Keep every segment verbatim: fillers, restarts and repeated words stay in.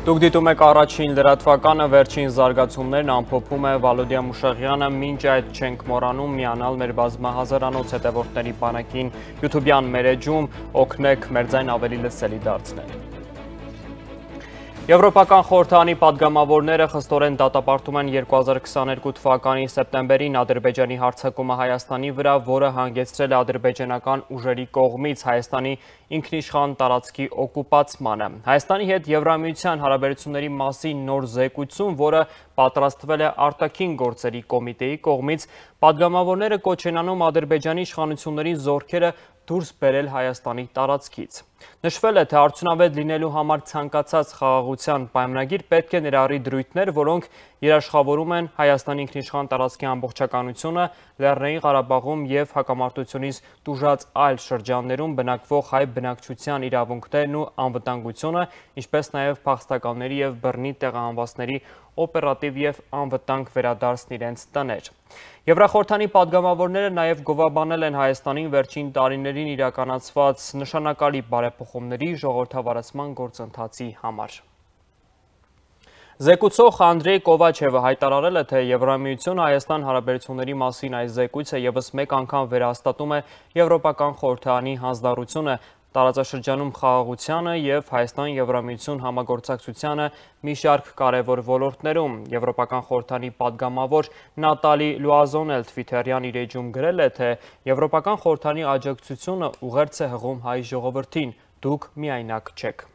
Դուք դիտում եք առաջին լրատվականը, վերջին զարգացումներն ամփոփում է Վալոդիա Մուշեղյանը, մինչ այդ չենք մոռանում միանալ մեր բազմահազարանոց հետևորդների բանակին YouTube-յան մեր էջում, օգնեք մեր ձայն ավելի լսելի դարձնել։ Եվրոպական խորհրդարանի պատգամավորները խստորեն դատապարտում են երկու հազար քսաներկու թվականի սեպտեմբերին Ադրբեջանի հարձակումը Հայաստանի վրա, որը հանգեցրել է ադրբեջանական ուժերի կողմից Հայաստանի ինքնիշխան տարածքի օկուպացմանը։ Հայաստանի հետ Եվրամիության հարաբերությունների մասին նոր զեկույցում, որը պատրաստվել է արտաքին գործերի կոմիտեի կողմից, պատգամավորները կոչ են անում Ադրբեջանի իշխանությունների զորքերը դուրս բերել Հայաստանի տարածքից։ Նշվել է, թե արդյունավետ լինելու համար ցանկացած խաղաղության պայմանագիր պետք է ներառի դրույթներ, որոնք երաշխավորում են Հայաստանի ինքնիշխան տարածքի ամբողջականությունը, Լեռնային Ղարաբաղում և հակամարտությունից տուժած այլ շրջաններում բնակվող հայ բնակչության իրավունքներն ու անվտանգությունը, ինչպես նաև փախստականների և բռնի տեղահանվածների օպերատիվ և անվտանգ վերադարձն իրենց տներ։ Եվրախորհրդանի պատգամավորները նաև գովաբանել են Հայաստանին վերջին տարիներին իրականացված նշանակալի բարեփոխումների ժողովրդավարացման գործընթացի համար։ Զեկուցող Անդրեյ Կովաչևը հայտարարել է, թե Եվրամիությունը Հայաստան հարաբերությունների մասին այս զեկույցը ևս մեկ անգամ վերահաստատում է Եվրոպական խորհրդարանի հանձնառությունը տարածաշրջանում խաղաղությանը և Հայաստան-Եվրամիություն համագործակցությանը մի շարք կարևոր ոլորտներում։ Եվրոպական խորհրդարանի պատգամավոր Նատալի Լուազոն էլ Թվիթերյան իր էջում գրել է, թե Եվրոպական խորհրդարանի աջակցությունը ուղերձ է հղում հայ ժողովրդին, դուք միայնակ չեք։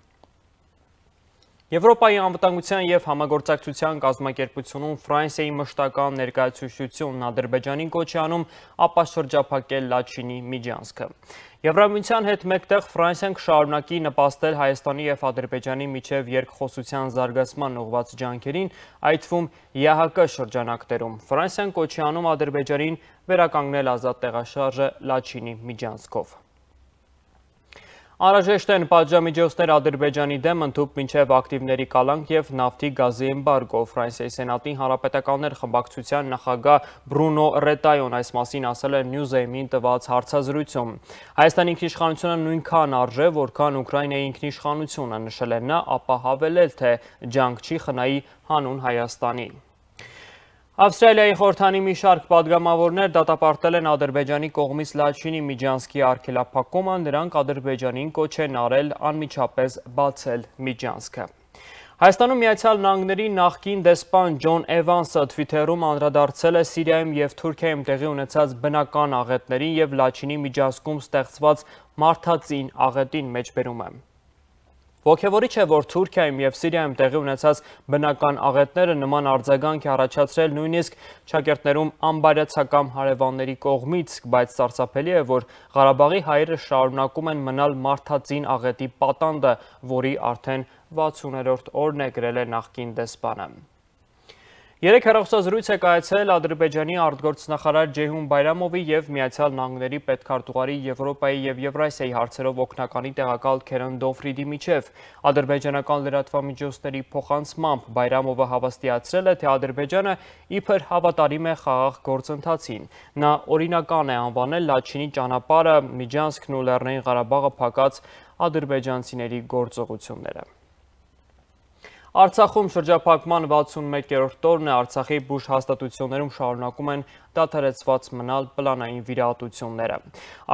Եվրոպայի անվտանգության և համագործակցության կազմակերպությունում Ֆրանսիայի մշտական ներկայացուցչությունն Ադրբեջանին կոչ է անում ապաշրջափակել Լաչինի միջանցքը։ Եվրամիության հետ մեկտեղ Ֆրանսիան կշարունակի նպաստել Հայաստանի և Ադրբեջանի միջև երկխոսության զարգացման ուղղված ջանքերին, այդ թվում ԵԱՀԿ շրջանակներում։ Ֆրանսիան կոչ է անում Ադրբեջանին վերականգնել ազատ տեղաշարժը Լաչինի միջանցքով։ Անհրաժեշտ են պատժամիջոցներ Ադրբեջանի դեմ ընդհուպ մինչև ակտիվների կալանք և նավթի գազի էմբարգո։ Ֆրանսիայի Սենատի հանրապետականներ խմբակցության նախագահ Բրունո Ռետայոն այս մասին ասել է Newsame-ին տված հարցազրույցում։ Հայաստանի ինքնիշխանությունը նույնքան արժե, որքան Ուկրաինայի ինքնիշխանությունը, նշել է նա, ապա հավելել, թե ջանք չի խնայի հանուն Հայաստանի։ Ավստրալիայի խորհրդարանի մի շարք պատգամավորներ դատապարտել են Ադրբեջանի կողմից Լաչինի միջանցքի արգելափակումը, նրանք Ադրբեջանին կոչ են արել անմիջապես բացել միջանցքը։ Հայաստանում Միացյալ Նահանգների նախկին դեսպան Ջոն Էվանսը Թվիթերում անդրադարձել է Սիրիայում և Թուրքիայում տեղի ունեցած բնական աղետներին և Լաչինի միջանցքում ստեղծված մարդածին աղետին, մեջբերում է։ Ոգևորիչ է, որ Թուրքիայում և Սիրիայում տեղի ունեցած բնական աղետները նման արձագանք է առաջացրել նույնիսկ շակերտներում անբարյացակամ հարևանների կողմից, բայց սարսափելի է, որ Ղարաբաղի հայերը շարունակում են մնալ մարդածին աղետի պատանդը, որի արդեն վաթսուներորդ օրն է, գրել է նախկին դեսպանը։ Երեք հեռախոսազրույց է կայացել Ադրբեջանի արտգործնախարար Ջեյհուն Բայրամովի և Միացյալ Նահանգների պետքարտուղարի Եվրոպայի և Եվրասիայի հարցերով օգնականի տեղակալ Քերեն Դոֆրիդի միջև։ Ադրբեջանական լրատվամիջոցների փոխանցմամբ Բայրամովը հավաստիացրել է, թե Ադրբեջանը իբր հավատարիմ է խաղաղ գործընթացին։ Նա օրինական է անվանել Լաչինի ճանապարհը, միջանցքն ու Լեռնային Ղարաբաղը փակած ադրբեջանցիների գործողությունները։ Արցախում շրջափակման վաթսունմեկերորդ օրն է, Արցախի բուժ հաստատություններում շարունակում են դադարեցված մնալ պլանային վիրահատությունները։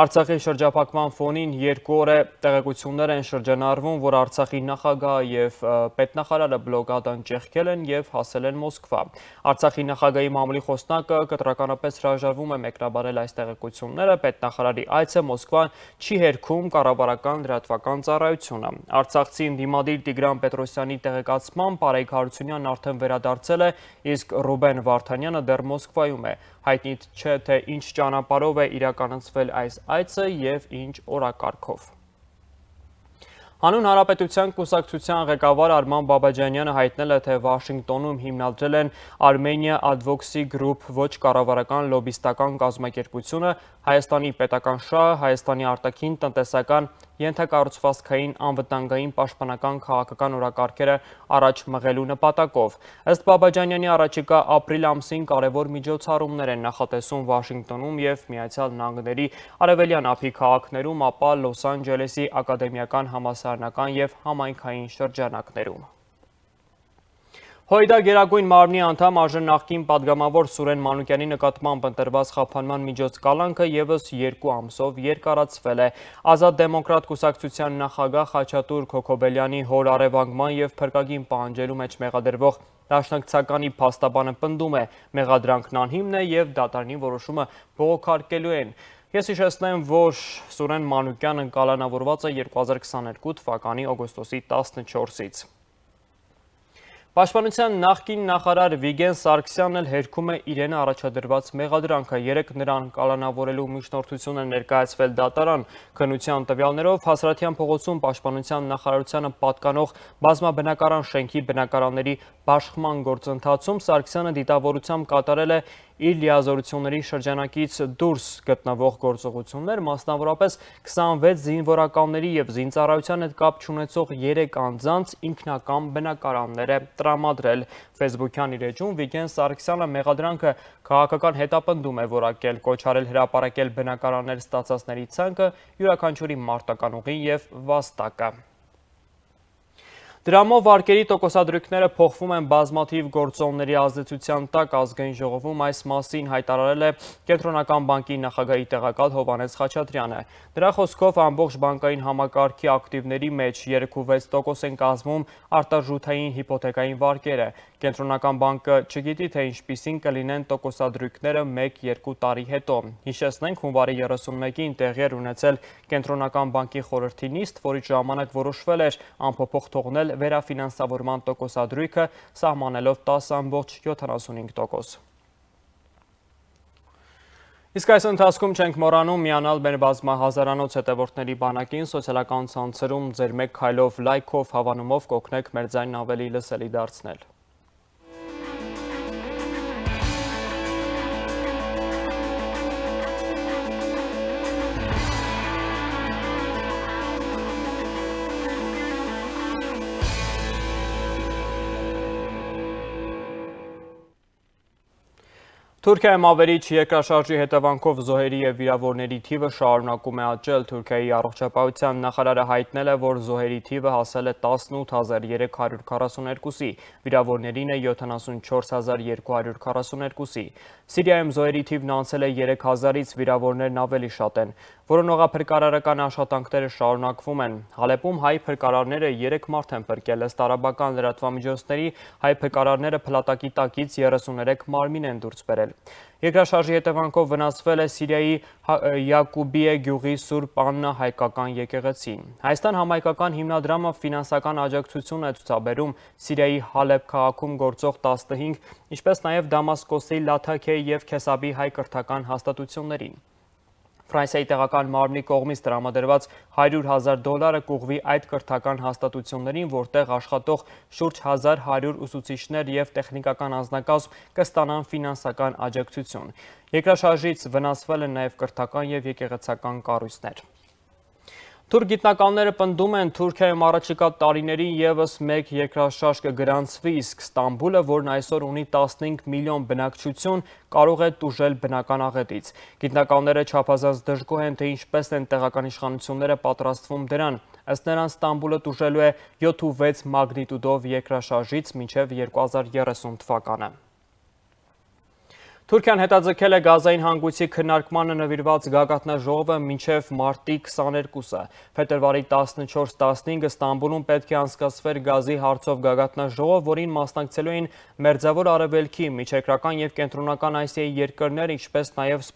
Արցախի շրջափակման ֆոնին երկու օր է տեղեկություններ են շրջանառվում, որ Արցախի նախագահը և պետնախարարը բլոկադան ճեղքել են և հասել են Մոսկվա։ Արցախի նախագահի մամուլի խոսնակը կտրականապես հրաժարվում է մեկնաբանել այս տեղեկությունները, պետնախարարի այցը Մոսկվա չի հերքում կառավարական լրատվական ծառայությունը։ Արցախցի ընդդիմադիր Տիգրան Պետրոսյանի տեղեկացմամբ Արայք Հարությունյանն արդեն վերադարձել է, իսկ Ռուբեն Վարդանյանը դեռ Մոսկվայում է։ Հայտնի չէ, թե ինչ ճանապարհով է իրականացվել այս այցը և ինչ օրակարգով։ Հանուն Հանրապետության կուսակցության ղեկավար Արման Բաբաջանյանը հայտնել է, թե Վաշինգտոնում հիմնադրել են Armenia Advocacy Group ոչ կառավարական լոբիստական կազմակերպությունը Հայաստանի պետական շահը, Հայաստանի արտաքին տնտեսական ենթակառուցվածքային անվտանգային պաշտպանական քաղաքական օրակարգերը առաջ մղելու նպատակով։ Ըստ Բաբաջանյանի առաջիկա ապրիլ ամսին կարևոր միջոցառումներ են նախատեսում Վաշինգտոնում և Միացյալ Նահանգների արևելյան ափի քաղաքներում, ապա Լոս Անջելեսի ակադեմիական համալսարանական և համայնքային շրջանակներում։ Հոյդա գերագույն մարմնի անդամ արժե նախկին պատգամավոր Սուրեն Մանուկյանի նկատմամբ ընտրված խափանման միջոց կալանքը ևս երկու ամսով երկարացվել է։ Ազատ դեմոկրատ կուսակցության նախագահ Խաչատուր Քոքոբելյանի հոր առևանգման և փրկագին պահանջելու մեջ մեղադրվող դաշնակցականի փաստաբանը պնդում է, մեղադրանքն անհիմն է և դատարանի որոշումը բողոքարկելու են։ Ես հիշեցնեմ, որ Սուրեն Մանուկյանը կալանավորված է երկու հազար քսաներկու թվականի օգոստոսի տասնչորսից։ Պաշտպանության նախկին նախարար Վիգեն Սարգսյանն էլ հերքում է իրեն առաջադրված մեղադրանքը։ Երեկ նրան կալանավորելու միջնորդություն է ներկայացվել դատարան։ Քննության տվյալներով Հասարատյան փողոցում պաշտպանության նախարարությանը պատկանող բազմաբնակարան շենքի բնակարանների բաշխման գործընթացում Սարգսյանը դիտավորությամբ կատարել է իր լիազորությունների շրջանակից դուրս գտնվող գործողություններ, մասնավորապես քսանվեց զինվորականների և զինծառայության հետ կապ չունեցող երեք անձանց ինքնական բնակարաններ է տրամադրել։ Ֆեյսբուքյան իր էջում Վիգեն Սարգսյանը մեղադրանքը քաղաքական հետապնդում է որակել, կոչ արել հրապարակել բնակարաններ ստացածների ցանկը, յուրաքանչյուրի մարտական ուղին և վաստակը։ Դրամով վարկերի տոկոսադրույքները փոխվում են բազմաթիվ գործոնների ազդեցության տակ։ Ազգային ժողովում այս մասին հայտարարել է Կենտրոնական բանկի նախագահի տեղակալ Հովհաննես Խաչատրյանը։ Նրա խոսքով ամբողջ բանկային համակարգի ակտիվների մեջ երեք ու վեց տոկոս են կազմում արտարժութային հիպոթեկային վարկերը։ Կենտրոնական բանկը չգիտի, թե ինչպիսին կլինեն տոկոսադրույքները մեկ-երկու տարի հետո։ Հիշեցնենք, հունվարի երեսունմեկին տեղի էր ունեցել Կենտրոնական բանկի խորհրդի նիստ, որի ժամանակ որոշվել էր անփոփոխ թողնել վերաֆինանսավորման տոկոսադրույքը, սահմանելով տասը ամբողջ յոթանասունհինգ տոկոս։ Իսկ այս ընթացքում չենք մոռանում միանալ մեր բազմահազարանոց հետևորդների բանակին, սոցիալական ցանցերում ձեր մեկ քայլով, լայքով, հավանումով կօգնեք մեր ձայնն ավելի լսելի դարձնել։ Թուրքիայում ավերիչ երկրաշարժի հետևանքով զոհերի և վիրավորների թիվը շարունակում է աճել։ Թուրքիայի առողջապահության նախարարը հայտնել է, որ զոհերի թիվը հասել է տասնութ հազար երեք հարյուր քառասուներկուսի, վիրավորներին է յոթանասունչորս հազար երկու հարյուր քառասուներկուսի։ Սիրիայում զոհերի թիվն անցել է երեք հազարից, վիրավորներն ավելի շատ են։ Որոնողափրկարարական աշխատանքները շարունակվում են։ Հալեպում հայ փրկարարները երեք մարդ են փրկել, ըստ արաբական լրատվամիջոցների հայ փրկարարները փլատակի տակից երեսուներեք մարմին են դուրս բերել։ Երկրաշարժի հետևանքով վնասվել է Սիրիայի Յակուբիե գյուղի Սուրբ Աննա հայկական եկեղեցին։ Հայաստան համայնքական հիմնադրամը ֆինանսական աջակցություն է ցուցաբերում Սիրիայի Հալեբ քաղաքում գործող տասնհինգ, ինչպես նաև Դամասկոսի Լաթաքեի և Քեսաբի հայ կրթական հաստատություններին։ Ֆրանսիայի տեղական մարմնի կողմից տրամադրված հարյուր հազար դոլարը կուղղվի այդ կրթական հաստատություններին, որտեղ աշխատող շուրջ հազար հարյուր ուսուցիչներ և տեխնիկական անձնակազմ կստանան ֆինանսական աջակցություն։ Երկրաշարժից վնասվել են նաև կրթական և եկեղեցական կառույցներ։ Թուրք գիտնականները պնդում են, Թուրքիայում առաջիկա տարիներին ևս մեկ երկրաշարժ կգրանցվի, իսկ Ստամբուլը, որն այսօր ունի տասնհինգ միլիոն բնակչություն, կարող է տուժել բնական աղետից։ Գիտնականները չափազանց դժգոհ են, թե ինչպես են տեղական իշխանությունները պատրաստվում դրան։ Ըստ նրանց Ստամբուլը տուժելու է յոթ ու վեց մագնիտուդով երկրաշարժից մինչև երկու հազար երեսուն թվականը։ Թուրքիան հետաձգել է գազային հանգույցի քննարկմանը նվիրված գագաթնաժողովը մինչև մարտի քսաներկուսը։ Փետրվարի տասնչորս տասնհինգը Ստամբուլում պետք է անցկացվեր գազի հարցով գագաթնաժողով, որին մասնակցելու էին Մերձավոր Արևելքի, Միջերկրական և Կենտրոնական Ասիայի երկրներ, ինչպես նաև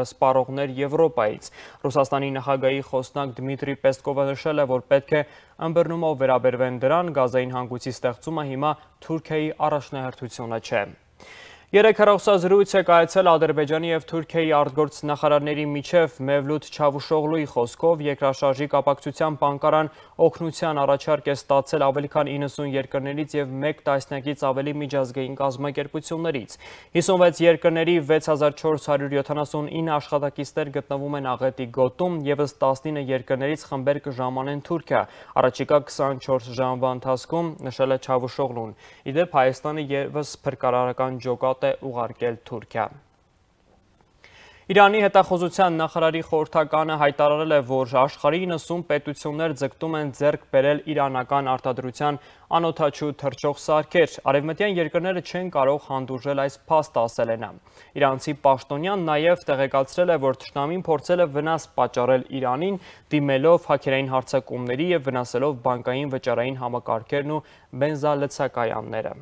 սպառողներ Եվրոպայից։ Ռուսաստանի նախագահի խոսնակ Դմիտրի Պեսկովը նշել է, որ պետք է ըմբռնումով վերաբերվեն դրան, գազային հանգույցի ստեղծումը հիմա Թուրքիայի առաջնահերթությունը չէ։ Երեկ հեռախոսազրույց է կայացել Ադրբեջանի և Թուրքիայի արտգործ նախարարների միջև Մևլութ Չավուշօղլուի խոսքով երկրաշարժի կապակցությամբ Անկարան օգնության առաջարկ է ստացել ավելի քան իննսուն երկրներից և մեկ տասնյակից ավելի միջազգային կազմակերպություններից։ հիսունվեց երկրների վեց հազար չորս հարյուր յոթանասունինը աշխատակիցներ գտնվում են աղետի գոտում, ևս տասնինը երկրներից խմբեր կժամանեն Թուրքիա։ Առաջիկա քսանչորս ժամվա ընթացքում, նշել է Չավուշօղլուն։ Ի դեպ Հայաստանը ևս փրկարարական ջոկատ է ուղարկել Թուրքիա։ Իրանի հետախուզության նախարարի խորհրդականը հայտարարել է, որ աշխարհի իննսուն պետություններ ձգտում են ձեռք բերել իրանական արտադրության անօդաչու թռչող սարքեր։ Արևմտյան երկրները չեն կարող հանդուրժել այս փաստը, ասել է նա։ Իրանցի պաշտոնյան նաև տեղեկացրել է, որ թշնամին փորձել է վնաս պատճառել Իրանին, դիմելով հաքերային հարձակումների և վնասելով բանկային վճարային համակարգերն ու բենզալցակայանները։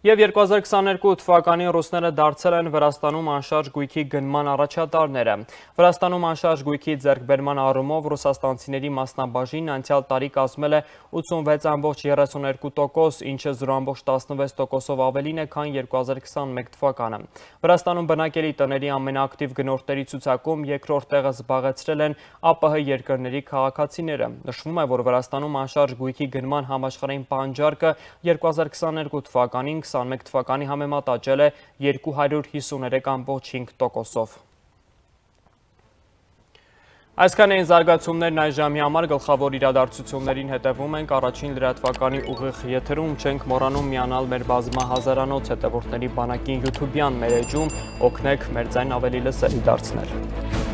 Եվ երկու հազար քսաներկու թվականին ռուսները դարձել են Վրաստանում անշարժ գույքի գնման առաջատարները։ Վրաստանում անշարժ գույքի ձեռքբերման առումով ռուսաստանցիների մասնաբաժինն անցյալ տարի կազմել է ութսունվեց կόμμα երեսունյոթ տոկոս, ինչը զրո կόμμα տասնվեց տոկոսով ավելին է, քան երկու հազար քսաներկու թվականը։ Վրաստանում բնակելի տների ամենաակտիվ գնորդների ցուցակում երկրորդ տեղը զբաղեցրել են ԱՊՀ երկրների քաղաքացիները։ Նշվում է, որ Վրաստանում անշարժ գույքի գնման համաշխարհային պահանջարկը երկու հազար քսաներկու թվականին քսաներկու թվականի համեմատ աճել է երկու հարյուր հիսուներեք կόμμα հինգ տոկոսով։ Այսքան էին զարգացումներն այս ժամի համար, գլխավոր իրադարձություններին հետևում ենք, առաջին լրատվականի ուղիղ եթերում չենք մոռանում միանալ մեր բազմահազարանոց հետևորդների բանակին յութուբյան մեր էջում, օգնեք մեր ձայն ավելի լսելի դարձնել։